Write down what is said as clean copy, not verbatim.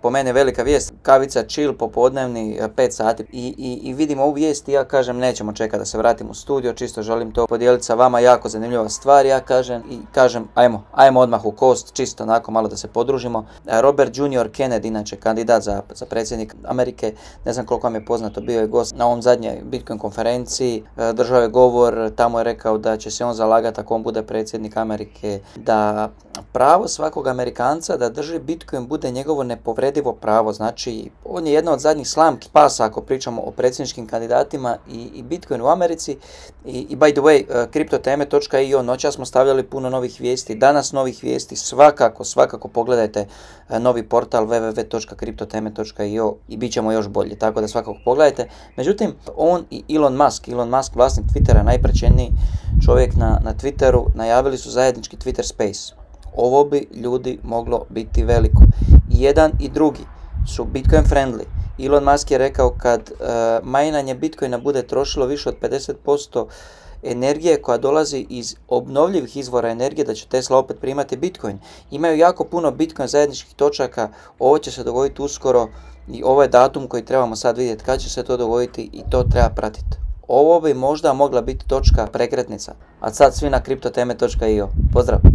po meni velika vijest, kavica chill popodnevni 5 sati i vidim ovu vijest i ja kažem nećemo čekati da se vratim u studio, čisto želim to podijeliti sa vama, jako zanimljiva stvar, ja kažem ajmo odmah u kost, čisto onako malo da se podružimo. Robert Junior Kennedy, inače kandidat za predsjednik Amerike, ne znam koliko vam je poznato, bio je gost na ovom zadnjoj Bitcoin konferenciji, držao je govor, tamo je rekao da će se on zalagati ako on bude predsjednik Amerike, da pravo svakog Amerikanca da drži Bitcoin bude njegovo nepovredivo pravo. Znači, on je jedna od zadnjih slamki spasa ako pričamo o predsjedničkim kandidatima i Bitcoin u Americi. I by the way, CryptoTeme.io, noćas smo stavljali puno novih vijesti, danas novih vijesti, svakako pogledajte novi portal www.cryptoteme.io i bit ćemo još bolji, tako da svakako pogledajte. Međutim, on i Elon Musk, vlasnik Twittera, najprečeniji čovjek na Twitteru, najavili su zajednički Twitter Space. Ovo bi ljudi moglo biti veliko. I jedan i drugi su Bitcoin friendly. Elon Musk je rekao kad majnanje Bitcoina bude trošilo više od 50% energije koja dolazi iz obnovljivih izvora energije, da će Tesla opet primati Bitcoin. Imaju jako puno Bitcoin zajedničkih točaka, ovo će se dogoditi uskoro i ovo je datum koji trebamo sad vidjeti kad će se to dogoditi i to treba pratiti. Ovo bi možda mogla biti točka prekretnica. A sad svi na CryptoTeme.io. Pozdrav!